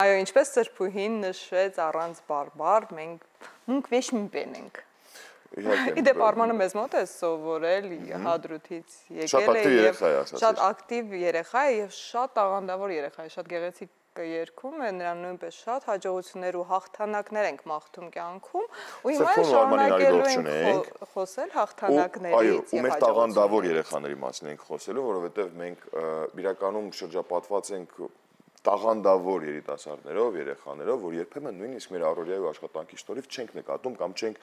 Այո, ինչպես Սրբուհին նշեց առանց բարբար, մենք վեշ մի բենենք։ Իդեպ Արմանը մեզ մոտ է սովորել հադրութից եկել է և շատ ակտիվ երեխա է և շատ տաղանդավոր երեխա է, շատ գեղեցիկ երգում է, նրան նույնպես շատ հաջողություններ ու հաղթանակներ ենք մաղթում կյանքում ու հիմա շարունակելու ենք խոսել հաղթանակներից ու մեր տաղանդավոր երեխաների մասին ենք խոսելու, որովհետև մենք իրականում շրջապատված ենք տաղանդավոր երիտասարդներով, երեխաներով, որ երբեմն նույնիսկ մեր առօրյա ու աշխատանքի շնորհիվ չենք նկատում կամ չենք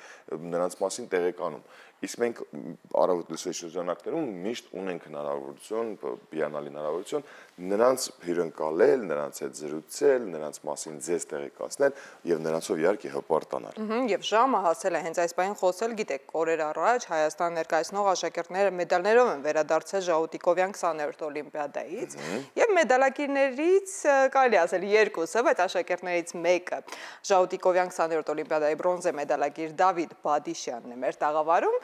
նրանց մասին տեղեկանում։ Իսկ մենք առավոտ լսվի շրջանակներում միշտ ունենք հնարավորություն, հիանալի հնարավորություն նրանց հյուրընկալել, նրանց հետ զրուցել, նրանց մասին ձեզ տեղեկացնել եւ նրանցով իհարկե հպարտանալ։ Եվ ժամը հասել է հենց այս բանին խոսել, գիտեք, օրեր առաջ Հայաստան ներկայացնող աշակերտները մեդալներով են վերադարձել Ժաուտիկովյան 20-րդ օլիմպիադայից եւ մեդալակիրներից կարելի ասել երկուսը, բայց աշակերտներից մեկը Ժաուտիկովյան 20-րդ օլիմպիադայի բրոնզե մեդալակիր Դավիթ Բադիշյանն է մեր տաղավարում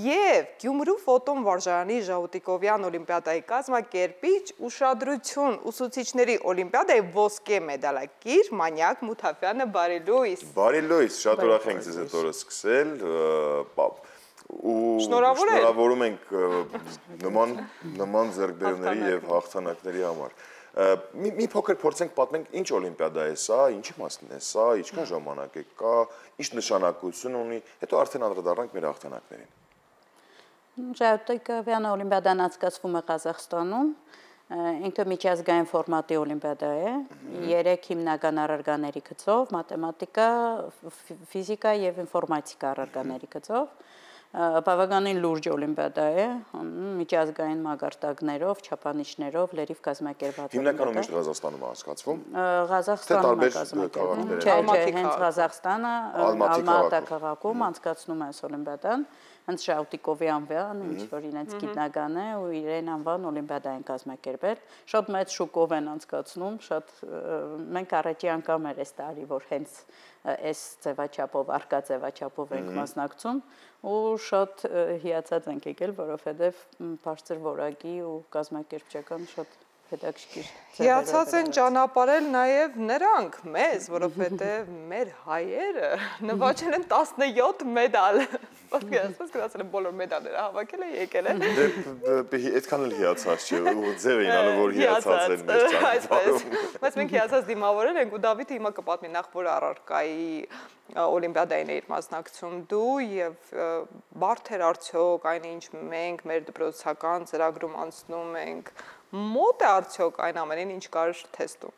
եւ Գյումրու ֆոտոն վարժարանի Ժաուտիկովյան օլիմպիադայի կազմակերպիչ ուշադրություն ուսուցիչների օլիմպիադայի ոսկե մեդալակիր Մանյակ Մութաֆյանը, բարի լույս։ Բարի լույս, շատ ուրախ ենք ձեզ այդ օրը սկսել ու շնորհավորում ենք նման ձեռքբերումների եւ հաղթանակների համար։ Մի փոքր փորձենք պատմենք ինչ օլիմպիադա է սա, ինչի մասին է սա, ինչքան ժամանակ է կա, ինչ նշանակություն ունի, հետո արդեն անդրադառնանք մեր հաղթանակներին։ Ժաուտիկովյան օլիմպիադան անցկացվում է Ղազախստանում, ինքը միջազգային ֆորմատի օլիմպիադա է, 3 հիմնական առարկաների գծով, մաթեմատիկա, ֆիզիկա եւ ինֆորմատիկա առարկաների գծով։ Բավականին լուրջ օլիմպիադա է, միջազգային մակարդակներով, չափանիշներով, լրիվ կազմակերպված։ Հիմնականում միշտ Ղազախստանում է անցկացվում։ Ղազախստանում է կազմակերպվում։ Չէ, հենց Ղազախստանը, Ալմատա քաղաքում անցկացնում է այս օլիմպիադան, հենց Ժաուտիկովյան, ինչ որ իրենց գիտնական է ու իրեն անվան օլիմպիադա են կազմակերպել։ Շատ մեծ շուկով են անցկացնում, մենք առաջի անգամ էր այս տարի, որ հենց այս ձևաչափով, արկա ձևաչափով ենք մասնակցում ու շատ հիացած ենք եկել, որովհետև բարձր որակի ու կազմակերպչական շատ հետաքրքիր։ Հիացած են ճանապարհել նաև նրանք մեզ, որովհետև մեր հայերը նվաճել են 17 մեդալ։ Ասես գրածել են բոլոր մեդալները հավաքել են եկել են։ Այդքան էլ հիացած չէ, ու ձև էին անում, որ հիացած են մեր ճանապարհում։ Բայց մենք հիացած դիմավորել ենք ու Դավիթը հիմա կպատմի նախ որ առարկայի օլիմպիադային էիր մասնակցում դու եւ բարդ էր արդյոք այն ինչ մենք մեր դպրոցական ծրագրում անցնում ենք մոտ է արդյոք այն ամենին ինչ կար թեստում։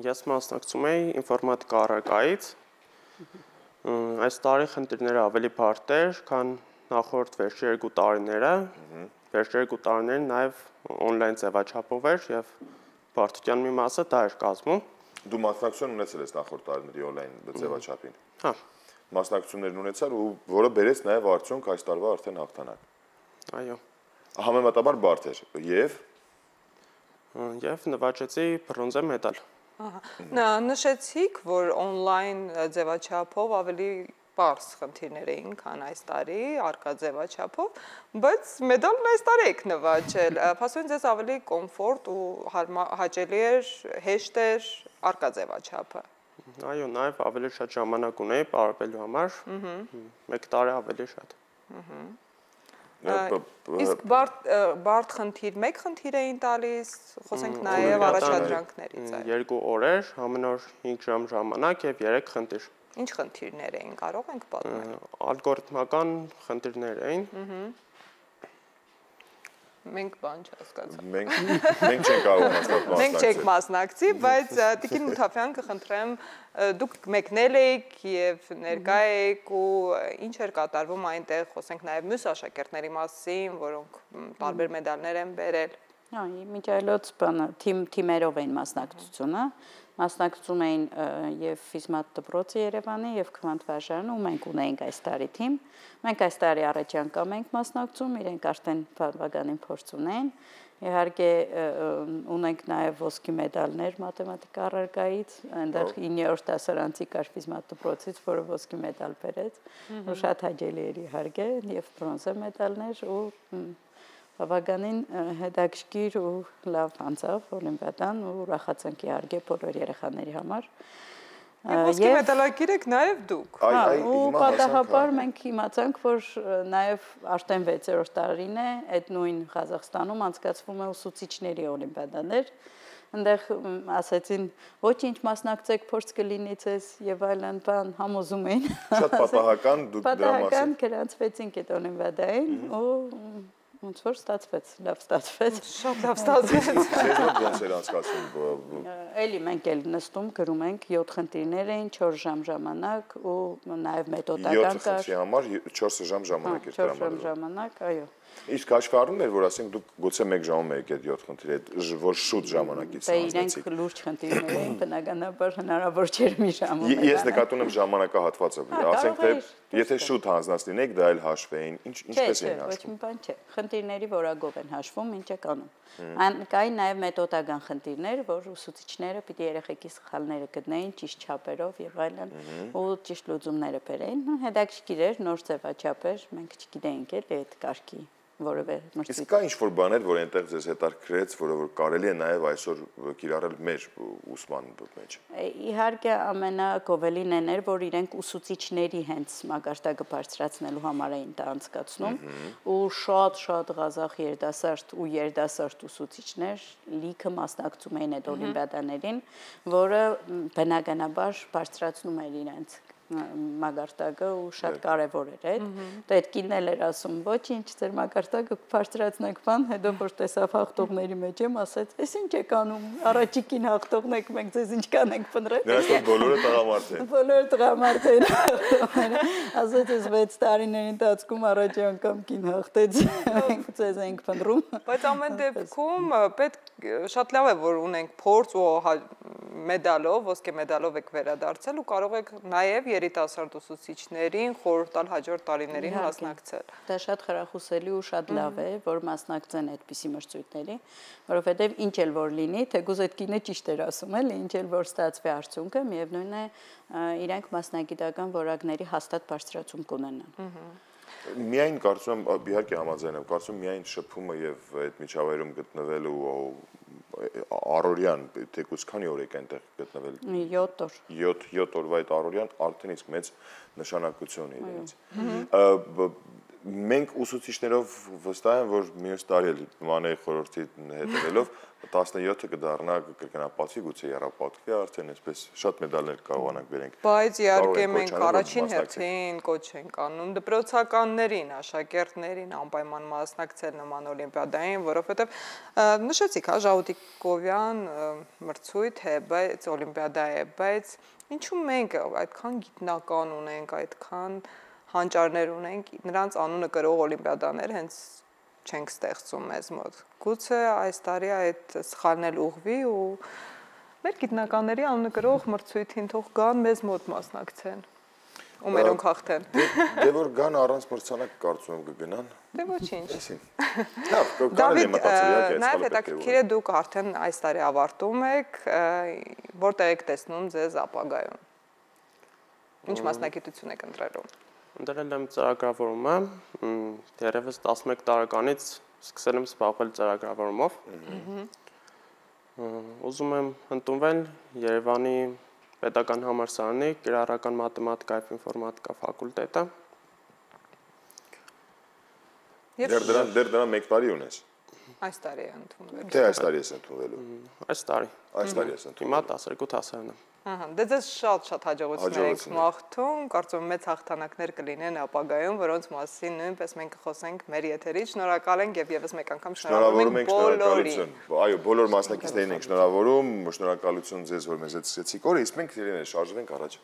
Ես մասնակցում էի ինֆորմատիկա առարկայից։ Այս տարի խնդիրները ավելի բարդ էր, քան նախորդ վերջի 2 տարիները։ Վերջի 2 տարիներին նաև օնլայն ձևաչափով էր եւ բարդության մի մասը դա էր կազմում։ Դու մասնակցություն ունեցել ես նախորդ տարիների օնլայն ձևաչափին։ Հա։ Մասնակցություններ ունեցար ու որը բերեց նաև արդյունք այս տարվա արդեն հաղթանակ։ Այո։ Համեմատաբար բարդ էր եւ նվաճեցի բրոնզե մեդալ։ Նշեցիք, որ օնլայն ձևաչափով ավելի պարզ խնդիրներ էին, քան այս տարի, արկա ձևաչափով, բայց մեդալն այս տարի եք նվաճել։ Փաստորեն ձեզ ավելի կոմֆորտ ու հաճելի էր, հեշտ էր արկա ձևաչափը։ Այո, նաև ավելի շատ ժամանակ ունեի պարապելու համար, 1 տարի ավելի շատ։ Իսկ բարդ խնդիր, մեկ խնդիր էին տալիս, խոսենք նաև առաջադրանքներից։ 2 օրեր, ամեն օր 5 ժամ ժամանակ եւ 3 խնդիր։ Ինչ խնդիրներ էին, կարող ենք պատմել։ Ալգորիթմական խնդիրներ էին։ Մենք բան չհասկացանք։ Մենք չենք կարող մասնակցել։ Մենք չենք մասնակցի, բայց Տիկին Մութաֆյան կխնդրեմ, դուք մեկնել եք եւ ներկա եք ու ինչ էր կատարվում այնտեղ, խոսենք նաև մյուս աշակերտների մասին, որոնք տարբեր մեդալներ են բերել։ Միջայլոց բանը թիմերով էին մասնակցությունը, մասնակցում էին եւ Ֆիզմատ դպրոցը Երևանի եւ Քվանտ վարժարանը ու մենք ունեինք այս տարի թիմ։ Մենք այս տարի առաջի անգամ ենք մասնակցում, իրենք արդեն բավականին փորձ ունեն։ Իհարկե ունենք նաև ոսկի մեդալներ մաթեմատիկա առարկայից, այնտեղ 9-րդ դասարանցի կար Ֆիզմատ դպրոցից, որը ոսկի մեդալ բերեց, ու շատ հաճելի էր իհարկե, եւ բրոնզե մեդալներ ու բավականին հետաքրքիր ու լավ անցավ օլիմպիադան ու ուրախացանք իհարկե բոլոր երեխաների համար։ Ոսկե մեդալակիր եք նաև դուք։ Ու պատահաբար մենք իմացանք, որ նաև արդեն 6-րդ տարին է այդ նույն Ղազախստանում անցկացվում է ուսուցիչների օլիմպիադաներ։ Այնտեղ ասացին, ոչինչ մասնակցեք, փորձ կլինի ցես եւ այլն բան համոզում էին։ Շատ պատահական դուք դրա մասին։ Պատահական գրանցվեցինք այդ օլիմպիադային ու ոնց որ ստացվեց, լավ ստացվեց։ Շատ լավ ստացվեց։ Ձեզ ոնց էր անցկացվում։ Էլի մենք էլ նստում գրում ենք 7 խնդիրներ էին 4 ժամ ժամանակ ու նաև մեթոդական կար։ 7 խնդրի համար 4 ժամ ժամանակ էր տրամադրվում։ 4 ժամ ժամանակ, այո։ Իսկ հաշվի առնում էր, որ ասենք դուք գուցե 1 ժամում եք այդ 7 խնդիրը, որ շուտ ժամանակից հանձնեցիք։ Իրենք լուրջ խնդիրներ էին, բնականաբար հնարավոր չէր մի ժամում։ Ես նկատում եմ ժամանակահատվածը, ասենք թե եթե շուտ հանձնած լինեք, դա էլ հաշվեին, ինչպես էին հաշվում։ Ոչ մի բան չէ։ Խնդիրների որակով են հաշվում, ինչ է կանում։ Կային նաև մեթոդական խնդիրներ, որ ուսուցիչները պիտի երեխեքի սխալները գտնեին ճիշտ չափերով եւ այլն, ու ճիշտ լուծումները բերեին։ Հետաքրքիր էր, նոր ձևաչափ էր, մենք չգիտեինք էլ այդ կարգի որևէ մրցույթ։ Իսկ կա ինչ-որ բաներ, որ այնտեղ ձեզ հետաքրքրեց, որը որ կարելի է նաև այսօր կիրառել մեր ուսման մեջ։ Իհարկե ամենագովելին էր, որ իրենք ուսուցիչների հենց մակարդակը բարձրացնելու համար էին դա անցկացնում, ու շատ Ղազախ երիտասարդ ու երիտասարդ ուսուցիչներ լիքը մասնակցում էին այդ օլիմպիադաներին, որը բնականաբար բարձրացնում էր իրենց մակարդակը ու շատ կարևոր էր այդ։ Դա այդ կինն էլ էր ասում, ոչինչ, ձեր մակարդակը բարձրացնեք բան, հետո որ տեսավ հաղթողների մեջ եմ, ասեց, «Էս ինչ եք անում, առաջիկին հաղթողն եք, մենք ձեզ ինչ կանենք փնտրել»։ Նրանք բոլորը տղամարդ են։ Բոլորը տղամարդ են հաղթողները։ Ասեց, «Էս 6 տարիների ընթացքում առաջի անգամ կին հաղթեց, մենք ձեզ ենք փնտրում»։ Բայց ամեն դեպքում պետք շատ լավ է, որ ունենք փորձ ու մեդալով, ոսկե մեդալով եք վերադարձել ու կարող եք նաև երիտասարդ ուսուցիչներին խորհուրդ տալ հաջորդ տարիներին մասնակցել։ Դա շատ խրախուսելի ու շատ լավ է, որ մասնակցեն այդպիսի մրցույթների, որովհետև ինչ էլ որ լինի, թեկուզ այդ կինը ճիշտ էր ասում, էլի, ինչ էլ որ ստացվի արդյունքը, միևնույն է իրանք մասնագիտական որակների հաստատ բարձրացում կունենան։ Միայն կարծում եմ, իհարկե համաձայն եմ, կարծում միայն շփումը եւ այդ միջավայրում գտնվելու առօրյան, թեկուզ քանի օր եք այնտեղ գտնվել։ 7 օր։ 7 օրվա այդ առօրյան արդեն իսկ մեծ նշանակություն է իրենց։ Մենք ուսուցիչներով վստահ եմ, որ մյուս տարի էլ Մանեի խորհրդի հետևելով 17-ը կդառնա կգնապատվի, գուցե եռապատվի արդեն այսպես շատ մեդալներ կարողանանք բերենք։ Բայց իհարկե մենք առաջին հերթին կոչ ենք անում դպրոցականներին, աշակերտներին անպայման մասնակցել նման օլիմպիադային, որովհետև նշեցիք, հա, Ժաուտիկովյան մրցույթ է, բայց օլիմպիադա է, բայց ինչու մենք այդքան գիտնական ունենք, այդքան հանճարներ ունենք, նրանց անունը կրող օլիմպիադաներ հենց չենք ստեղծում մեզ մոտ։ Գուցե այս տարի այդ սխալն էլ ուղղվի ու մեր գիտնականների անունը կրող մրցույթին թող գան մեզ մոտ մասնակցեն ու մերոնք հաղթեն։ Դե որ գան առանց մրցանակ կարծում եմ կգնան։ Դե ոչինչ։ Լավ, կարելի է մտածել իհարկե, նաև հետաքրքիր է դուք արդեն այս տարի ավարտում եք, որտեղ եք տեսնում ձեզ ապագայում։ Ինչ մասնագիտություն եք ընտրելու։ Ընտրել եմ ծրագրավորումը, դեռևս 11 տարեկանից սկսել եմ զբաղվել ծրագրավորումով։ Ուզում եմ ընդունվել Երևանի Պետական համալսարանի կիրառական մաթեմատիկա եւ ինֆորմատիկա ֆակուլտետը։ Դեռ դրան 1 տարի ունես։ Այս տարի է ընդունվել։ Թե այս տարի ես ընդունվելու։ Այս տարի։ Այս տարի ես ընդունվել։ Հիմա 12 հասարան եմ։ Ահա, դե ձեզ շատ հաջողություններ եք մաղթում, կարծում եմ մեծ հաղթանակներ կլինեն ապագայում, որոնց մասին նույնպես մենք կխոսենք մեր եթերից։ Շնորհակալ ենք եւ եւս մեկ անգամ շնորհավորում ենք բոլորին։ Այո, բոլոր մասնակիցներին ենք շնորհավորում, շնորհակալություն ձեզ, որ մեզ հետ սկսեցիք օրը, իսկ մենք իրեն շարժվենք առաջ։